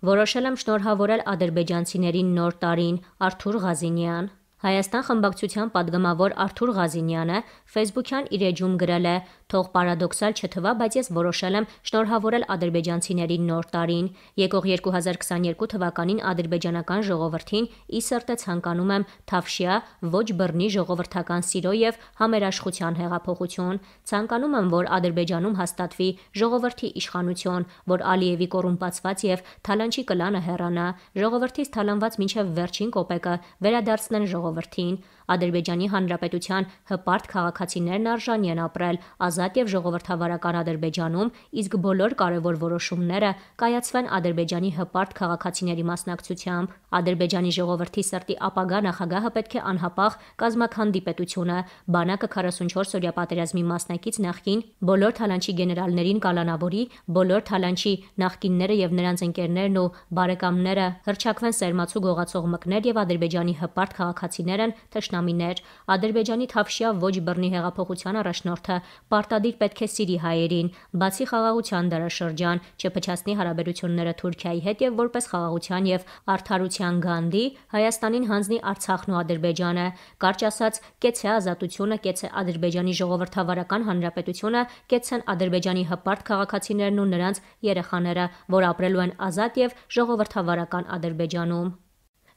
Որոշել եմ շնորհավորել ադրբեջանցիներին նոր տարին։ Արթուր Ղազինյան։ Հայաստան խմբակցության падգամավոր Արթուր Ղազինյանը ֆեյսբուքյան իր էջում գրել է. «Թող պարադոքսալ չթվա, բայց ես որոշել եմ շնորհավորել ադրբեջանցիներին նոր տարին։ Եկող 2022 թվականին ադրբեջանական ժողովրդին ի սրտե ցանկանում եմ թավշյա, ոչ բռնի ժողովրդական սիրո և համերաշխության հեղափոխություն։ Ցանկանում եմ, որ Ադրբեջանում հաստատվի ժողովրդի իշխանություն, որ Ալիևի կոռումպացված և թալանչի կլանը հեռանա, ժողովրդից թալանված մինչև վերջին կոպեկը վերադարձնեն ժողովրդին։ Ադրբեջանի Հանրապետության հպարտ քաղաքացիներն արժանի են ապրել ազատ և ժողովրդավարական Ադրբեջանում, իսկ բոլոր կարևոր որոշումները կայացվեն Ադրբեջանի հպարտ քաղաքացիների մասնակցությամբ։ Ադրբեջանի ժողովրդի սրտի ապագա նախագահը պետք է անհապաղ կազմաքանդի պետությունը, բանակը 44-օրյա պատերազմի մասնակից նախկին բոլոր թալանչի գեներալներին կալանավորի, բոլոր թալանչի նախկինները և նրանց ընկերներն ու բարեկամները հռչակվեն սերմացու գողացող մկներ և Ադրբեջանի հպարտ քաղաքացիներն թշնամիներ։ Ադրբեջանի թավշյա ոչ բռնի հեղափոխության առաջնորդը պարտադիր պետք է սիրի հայերին, բացի խաղաղության դարաշրջան, չփչացնի հարաբերությունները Թուրքիայի հետ և որպես խաղաղության և արդարության գանդի Հայաստանին հանձնի Արցախն ու Ադրբեջանը։ Կարճ ասած, կեցցե ազատությունը, կեցցե Ադրբեջանի ժողովրդավարական հանրապետությունը, կեցցեն Ադրբեջանի հպարտ քաղաքացիներն ու նրանց երեխաները, որ ապրելու են ազատ և ժողովրդավարական Ադրբեջանում։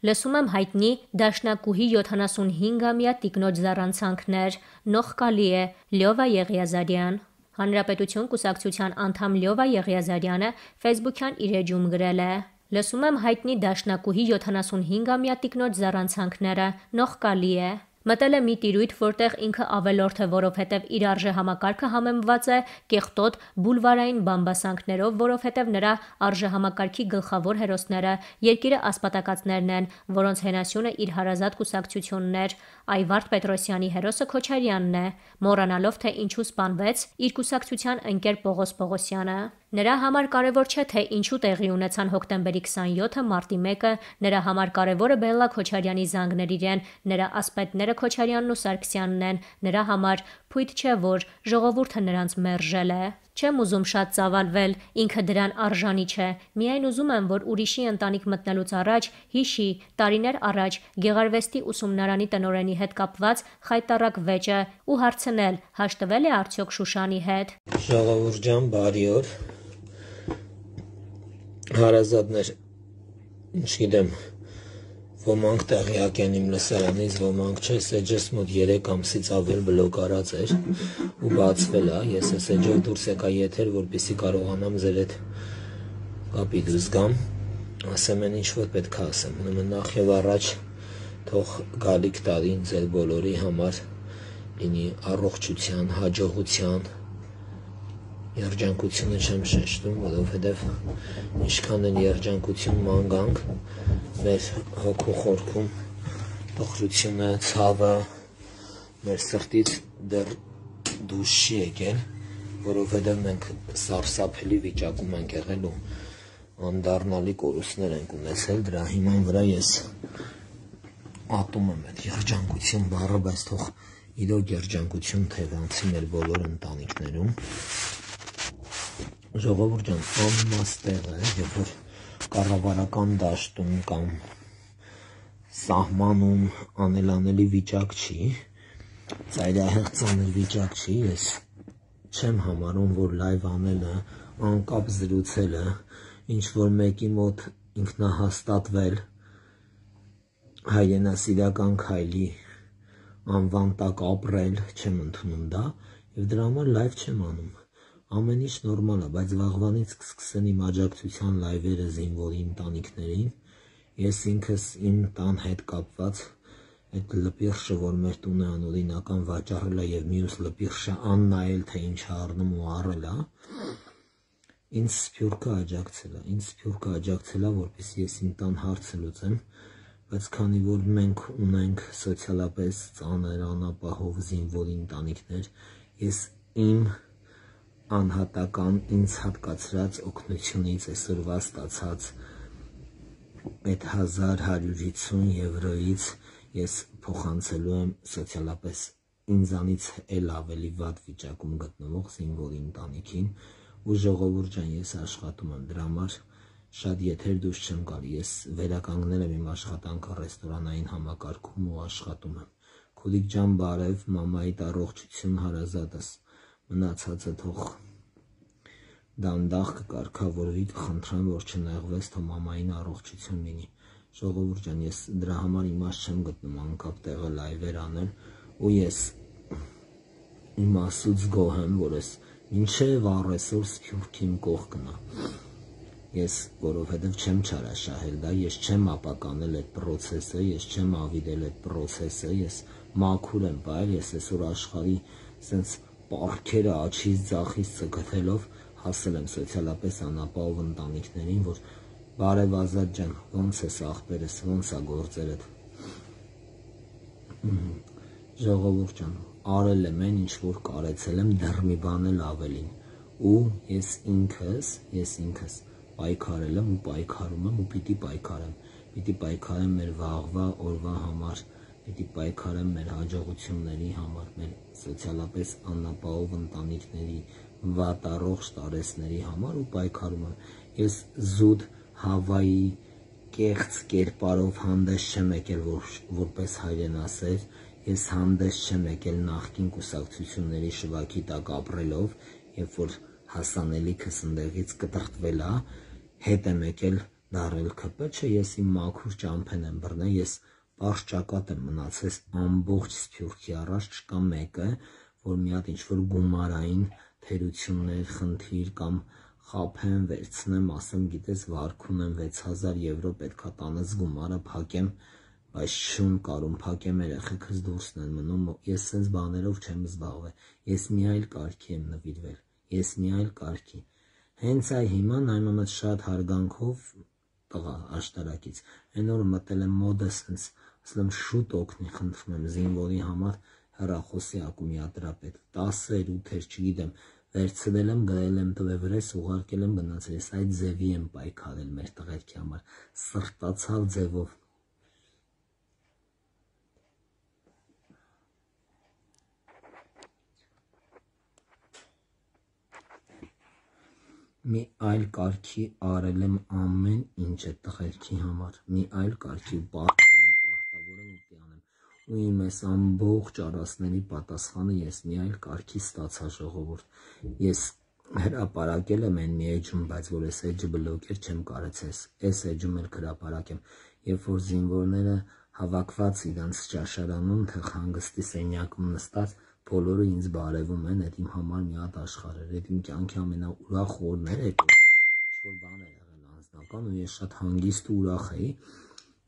Լսում եմ հայտնի դաշնակուհի 75-ամյա տիկնոջ զառանցանքներ։ Նողկալի է։ Լյովա Եղիազարյան։ Հանրապետություն կուսակցության անդամ Լյովա Եղիազարյանը ֆեյսբուքյան իր էջում գրել է. «Լսում եմ հայտնի դաշնակուհի 75-ամյա տիկնոջ զառանցանքները։ Նողկալի է։ Մտել է մի տիրույթ, որտեղ ինքը ավելորդ է, որովհետև իր արժեհամակարգը համեմված է կեղտոտ բուլվարային բամբասանքներով, որովհետև նրա արժեհամակարգի գլխավոր հերոսները երկիրը ասպատակածներն են, որոնց հենասյունը իր հարազատ կուսակցությունն էր։ Այվարդ Պետրոսյանի հերոսը Քոչարյանն է, մոռանալով, թե ինչու սպանվեց իր կուսակցության ընկեր Պողոս Պողոսյանը։ Նրա համար կարևոր չէ, թե ինչու տեղի ունեցան հոկտեմբերի 27-ը, մարտի 1-ը, նրա համար կարևորը Բելլա Քոչարյանի զանգներ իրեն, նրա ասպետները Քոչարյանն ու Սարգսյանն են, նրա համար փույթ չէ, որ ժողովուրդը նրանց մերժել է։ Չեմ ուզում շատ ծավալվել, ինքը դրան արժանի չէ, միայն ուզում եմ, որ ուրիշի ընտանիք մտնելուց առաջ հիշի տարիներ առաջ Գեղարվեստի ուսումնարանի տնօրենի հետ կապված խայտառակ վեճը ու հարցնել՝ հաշտվել է արդյոք Շուշանի հետ։ Ժողովուրդ ջան, բարի օր։ Հարազատներ, չգիտեմ, ոմանք տեղյակ են իմ լսարանից, ոմանք չէ, Սեջես մոտ 3 ամսից ավել բլոկ արած էր ու բացվել է, ես է Սեջով դուրս եկա եթեր, որպեսզի կարողանամ ձեր հետ կապի դուրս գամ, ասեմ են ինչ որ պետք է ասեմ, նախ եւ առաջ թող գալիք տարին ձեր բոլորի համար լինի առողջության, հաջողության, երջանկությունը չեմ շեշտում, որովհետև ինչքան են երջանկություն մանկանք մեր հոգու խորքում տխրությունը, ցավը մեր սրտից դեռ դուրս չի եկել, որովհետև մենք սարսափելի վիճակում ենք եղել ու անդառնալի կորուստներ ենք ունեցել, դրա հիման վրա ես ատում եմ այդ երջանկություն բառը, բայց թող իրոք երջանկություն թևանցի մեր բոլոր ընտանիքներում։ Ժողովուրդ ջան, անիմաստ տեղը է, երբ որ կառավարական դաշտում կամ սահմանում անելանելի վիճակ չի, ծայրահեղ ծանր վիճակ չի, ես չեմ համարում, որ լայվ անելը, անկապ զրուցելը, ինչ որ մեկի մոտ ինքնահաստատվել հայրենասիրական քայլի անվան տակ ապրել, չեմ ընդունում դա եւ դրա համար լայվ չեմ անում։ Ամեն ինչ նորմալ է, բայց վաղվանից կսկսեն իմ աջակցության լայվերը զինվորի ընտանիքներին, ես ինքս իմ տան հետ կապված այդ լպիղշը, որ մեր տունը անօրինական վաճառել է եւ մյուս լպիղշը աննայել, թե ինչ առնում ու առել է, ինձ սփյուռքը աջակցել է, որպեսզի ես իմ տան հարցը լուծեմ, բայց քանի որ մենք ունենք սոցիալապես ծանր անապահով զինվորի ընտանիքներ, ես իմ անհատական ինձ հատկացրած օգնությունից այսօրվա ստացած այդ 1150 եվրոից ես փոխանցելու եմ սոցիալապես ինձանից էլ ավելի վատ վիճակում գտնվող զինվորի ընտանիքին ու ժողովուրդ ջան, ես աշխատում եմ դրա համար շատ եթեր դուրս չեմ գալի, ես վերականգնել եմ իմ աշխատանքը ռեստորանային համակարգում ու աշխատում եմ։ Քուդիկ ջան, բարև, մամայիդ առողջություն հարազատս, մնացածը թող դանդաղ կկարգավորվի, խնդրեմ, որ չնեղվես, թող մամային առողջություն լինի։ Ժողովուրդ ջան, ես դրա համար իմաստ չեմ գտնում անկապ տեղը լայվեր անել, ու ես իմաստուց գոհ եմ, որ ես մինչև առեսօր Սփյուռքի իմ կողքն է։ Ես որովհետև չեմ չարաշահել դա, ես չեմ ապականել այդ պրոցեսը, ես չեմ ավիրել այդ պրոցեսը, ես մաքուր եմ պահել, ես այսօր աշխարհի սենց պարքերը աչից ձախից ցգթելով հասել եմ սոցիալապես անապահով ընտանիքներին, որ բարև Ազատ ջան, ոնց ես ախպերս, ոնց է գործերդ։ Ժողովուրդ ջան, արել եմ այն, ինչ որ կարեցել եմ, դեռ մի բան էլ ավելին, ու ես ինքս պայքարել եմ ու պայքարում եմ ու պիտի պայքարեմ մեր վաղվա օրվա համար, պիտի պայքարեմ մեր հաջողությունների համար, մեր սոցիալապես անապահով ընտանիքների, վատառողջ տարեցների համար ու պայքարում եմ։ Ես զուտ Հավայի կեղծ կերպարով հանդես չեմ եկել որպես հայրենասեր, ես հանդես չեմ եկել նախկին կուսակցությունների շվաքի տակ ապրելով, երբ որ հասանելիքս ընդեղից կտրտվել է, հետ եմ եկել դառել ՔՊ, չէ, ես իմ մաքուր ճամփեն եմ բռնել, ես պարզ ճակատ եմ մնացել ամբողջ Սփյուռքի առաջ, չկա մեկը, որ մի հատ ինչ-որ գումարային թերություններ, խնդիր կամ խափեմ, վերցնեմ, ասեմ, գիտես, վարքում եմ 6000 եվրո պետքա տանես գումարը փակեմ, բայց շուն կարում փակեմ, երեխեքս դուրսն են մնում, ես սենց բաներով չեմ զբաղվել, ես մի այլ կարգի եմ նվիրվել, ես մի այլ կարգի։ Հենց այ հիմա նայմամդ շատ հարգանքով տղա աշտարակից, այն օրը մտել եմ մոդը սենց, ասել եմ շուտ օգնի, խնդրում եմ զինվորի համար հեռախոսի ակումուլյատորապետ, 10-էր, 8-էր, չգիտեմ, վերցրել եմ, գրել եմ տվե վրես, ուղարկել եմ գնացել, ես այդ ձևի եմ պայքարել մեր տղերքի համար, սրտացավ ձևով։ Մի այլ կարգի արել եմ ամեն ինչ այդ տղերքի համար, մի այլ կարգի ու պարտքեմ ու պարտավոր եմ ուտի անեմ, ու իմ այս ամբողջ արասների պատասխանը ես մի այլ կարգի ստացա ժողովուրդ, ես հրապարակել եմ այն մի էջում, բայց որ այս էջը բլոկեր չեմ կարեցես, այս էջում էլ կհրապարակեմ, երբ որ զինվորները հավաքված իրանց ճաշարանում, թե խանգստի սենյակում նստած, բոլորը ինձ բարևում են, այդ իմ համար մի հատ աշխարհ էր, այդ իմ կյանքի ամենաուրախ օրն էր, այդ ինչ-որ բան էր եղել անձնական ու ես շատ հանգիստ ու ուրախ էի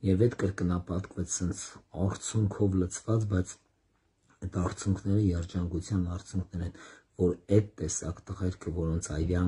եւ այդ կրկնապատկվեց սենց արցունքով լցված, բայց այդ արցունքները երջանկության արցունքներ են, որ այդ տեսակ տղերքը, որոնց այրան